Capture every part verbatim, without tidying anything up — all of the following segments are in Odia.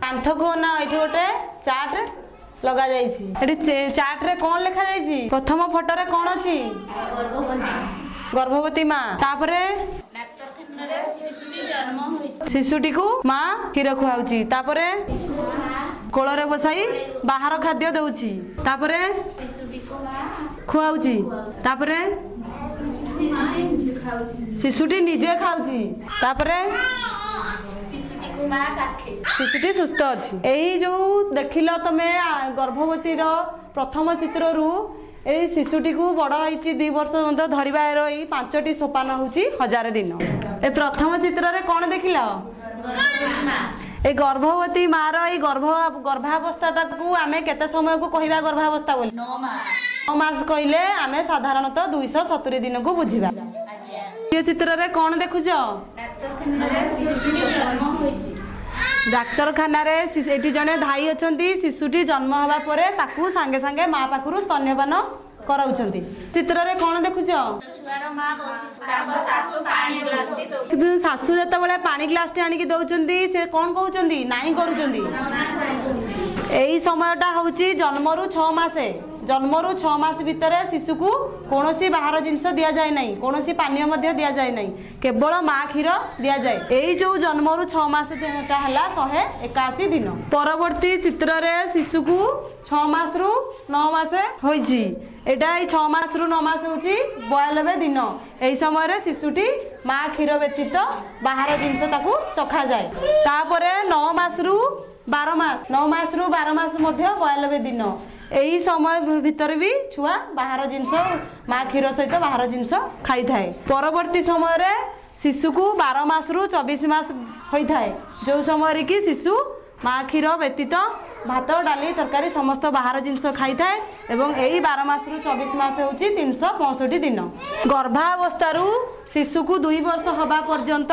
କାନ୍ଥକୁ ନା ଏଇଠି ଗୋଟେ ଚାର୍ଟ ଲଗାଯାଇଛି। ଏଠି ଚାର୍ଟରେ କଣ ଲେଖାଯାଇଛି? ପ୍ରଥମ ଫଟୋରେ କଣ ଅଛି? ଗର୍ଭବତୀ ମା। ତାପରେ ଶିଶୁଟିକୁ ମା କ୍ଷୀର ଖୁଆଉଛି। ତାପରେ କୋଳରେ ବସାଇ ବାହାର ଖାଦ୍ୟ ଦଉଛି। ତାପରେ ଖୁଆଉଛି। ତାପରେ ଶିଶୁଟି ନିଜେ ଖାଉଛି। ତାପରେ ଶିଶୁଟି ସୁସ୍ଥ ଅଛି। ଏଇ ଯୋଉ ଦେଖିଲ ତମେ ଗର୍ଭବତୀର ପ୍ରଥମ ଚିତ୍ରରୁ ଏଇ ଶିଶୁଟିକୁ ବଡ଼ ହେଇଛି ଦି ବର୍ଷ ପର୍ଯ୍ୟନ୍ତ ଧରିବାର ଏଇ ପାଞ୍ଚଟି ସୋପାନ ହଉଛି ହଜାରେ ଦିନ। ଏ ପ୍ରଥମ ଚିତ୍ରରେ କଣ ଦେଖିଲ? ଏଇ ଗର୍ଭବତୀ ମାର ଏଇ ଗର୍ଭ ଗର୍ଭାବସ୍ଥାଟାକୁ ଆମେ କେତେ ସମୟକୁ କହିବା ଗର୍ଭାବସ୍ଥା ବୋଲି? ନଅ ମାସ କହିଲେ ଆମେ ସାଧାରଣତଃ ଦୁଇଶହ ସତୁରି ଦିନକୁ ବୁଝିବା। ଦ୍ୱିତୀୟ ଚିତ୍ରରେ କଣ ଦେଖୁଛ? ଡାକ୍ତରଖାନାରେ ଏଠି ଜଣେ ଭାଇ ଅଛନ୍ତି। ଶିଶୁଟି ଜନ୍ମ ହେବା ପରେ ତାକୁ ସାଙ୍ଗେ ସାଙ୍ଗେ ମା ପାଖରୁ ସ୍ତନ୍ୟପାନ କରାଉଛନ୍ତି। ଚିତ୍ରରେ କଣ ଦେଖୁଛ? ଶାଶୁ ଯେତେବେଳେ ପାଣି ଗ୍ଲାସଟି ଆଣିକି ଦଉଛନ୍ତି, ସେ କଣ କହୁଛନ୍ତି? ନାଇଁ କରୁଛନ୍ତି। ଏଇ ସମୟଟା ହଉଛି ଜନ୍ମରୁ ଛଅ ମାସ। ଜନ୍ମରୁ ଛଅ ମାସ ଭିତରେ ଶିଶୁକୁ କୌଣସି ବାହାର ଜିନିଷ ଦିଆଯାଏ ନାହିଁ, କୌଣସି ପାନୀୟ ମଧ୍ୟ ଦିଆଯାଏ ନାହିଁ, କେବଳ ମା କ୍ଷୀର ଦିଆଯାଏ। ଏଇ ଯୋଉ ଜନ୍ମରୁ ଛଅ ମାସ ହେଲା ଶହେ ଏକାଅଶୀ ଦିନ। ପରବର୍ତ୍ତୀ ଚିତ୍ରରେ ଶିଶୁକୁ ଛଅ ମାସରୁ ନଅ ମାସ ହୋଇଛି। ଏଇଟା ଏଇ ଛଅ ମାସରୁ ନଅ ମାସ ହେଉଛି ବୟାନବେ ଦିନ। ଏଇ ସମୟରେ ଶିଶୁଟି ମା କ୍ଷୀର ବ୍ୟତୀତ ବାହାର ଜିନିଷ ତାକୁ ଚଖାଯାଏ। ତାପରେ ନଅ ମାସରୁ ବାର ମାସ, ନଅ ମାସରୁ ବାର ମାସ ମଧ୍ୟ ବୟାନବେ ଦିନ। ଏହି ସମୟ ଭିତରେ ବି ଛୁଆ ବାହାର ଜିନିଷ ମା କ୍ଷୀର ସହିତ ବାହାର ଜିନିଷ ଖାଇଥାଏ। ପରବର୍ତ୍ତୀ ସମୟରେ ଶିଶୁକୁ ବାର ମାସରୁ ଚବିଶ ମାସ ହୋଇଥାଏ, ଯେଉଁ ସମୟରେ କି ଶିଶୁ ମା କ୍ଷୀର ବ୍ୟତୀତ ଭାତ, ଡାଲି, ତରକାରୀ ସମସ୍ତ ବାହାର ଜିନିଷ ଖାଇଥାଏ। ଏବଂ ଏଇ ବାର ମାସରୁ ଚବିଶ ମାସ ହେଉଛି ତିନିଶହ ପଞ୍ଚଷଠି ଦିନ। ଗର୍ଭାବସ୍ଥାରୁ ଶିଶୁକୁ ଦୁଇ ବର୍ଷ ହେବା ପର୍ଯ୍ୟନ୍ତ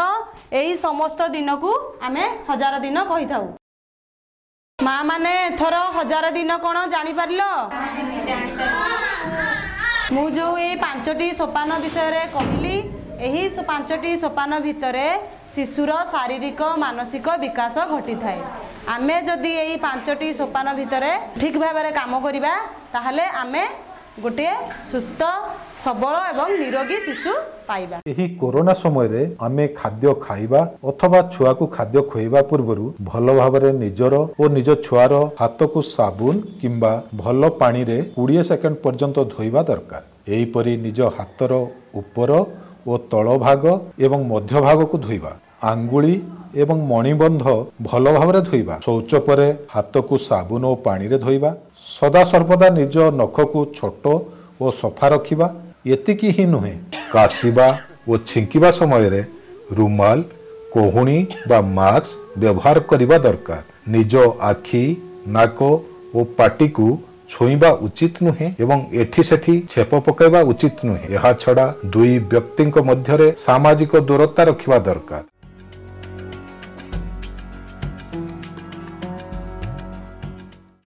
ଏଇ ସମସ୍ତ ଦିନକୁ ଆମେ ହଜାର ଦିନ କହିଥାଉ। ମା ମାନେ ଏଥର ହଜାର ଦିନ କଣ ଜାଣିପାରିଲ? ମୁଁ ଯୋଉ ଏଇ ପାଞ୍ଚଟି ସୋପାନ ବିଷୟରେ କହିଲି, ଏହି ପାଞ୍ଚଟି ସୋପାନ ଭିତରେ ଶିଶୁର ଶାରୀରିକ ମାନସିକ ବିକାଶ ଘଟିଥାଏ। ଆମେ ଯଦି ଏଇ ପାଞ୍ଚଟି ସୋପାନ ଭିତରେ ଠିକ ଭାବରେ କାମ କରିବା, ତାହେଲେ ଆମେ ଗୋଟିଏ ସୁସ୍ଥ, ସବଳ ଏବଂ ନିରୋଗୀ ଶିଶୁ ପାଇବା। ଏହି କରୋନା ସମୟରେ ଆମେ ଖାଦ୍ୟ ଖାଇବା ଅଥବା ଛୁଆକୁ ଖାଦ୍ୟ ଖୁଆଇବା ପୂର୍ବରୁ ଭଲ ଭାବରେ ନିଜର ଓ ନିଜ ଛୁଆର ହାତକୁ ସାବୁନ କିମ୍ବା ଭଲ ପାଣିରେ କୋଡ଼ିଏ ସେକେଣ୍ଡ ପର୍ଯ୍ୟନ୍ତ ଧୋଇବା ଦରକାର। ଏହିପରି ନିଜ ହାତର ଉପର ଓ ତଳ ଭାଗ ଏବଂ ମଧ୍ୟ ଭାଗକୁ ଧୋଇବା, ଆଙ୍ଗୁଳି ଏବଂ ମଣିବନ୍ଧ ଭଲ ଭାବରେ ଧୋଇବା, ଶୌଚ ପରେ ହାତକୁ ସାବୁନ ଓ ପାଣିରେ ଧୋଇବା, ସଦାସର୍ବଦା ନିଜ ନଖକୁ ଛୋଟ ଓ ସଫା ରଖିବା। ଏତିକି ହିଁ ନୁହେଁ, କାଶିବା ଓ ଛିଙ୍କିବା ସମୟରେ ରୁମାଲ, କହୁଣୀ ବା ମାସ୍କ ବ୍ୟବହାର କରିବା ଦରକାର। ନିଜ ଆଖି, ନାକ ଓ ପାଟିକୁ ଛୁଇଁବା ଉଚିତ ନୁହେଁ ଏବଂ ଏଠି ସେଠି ଛେପ ପକାଇବା ଉଚିତ ନୁହେଁ। ଏହାଛଡ଼ା ଦୁଇ ବ୍ୟକ୍ତିଙ୍କ ମଧ୍ୟରେ ସାମାଜିକ ଦୂରତା ରଖିବା ଦରକାର।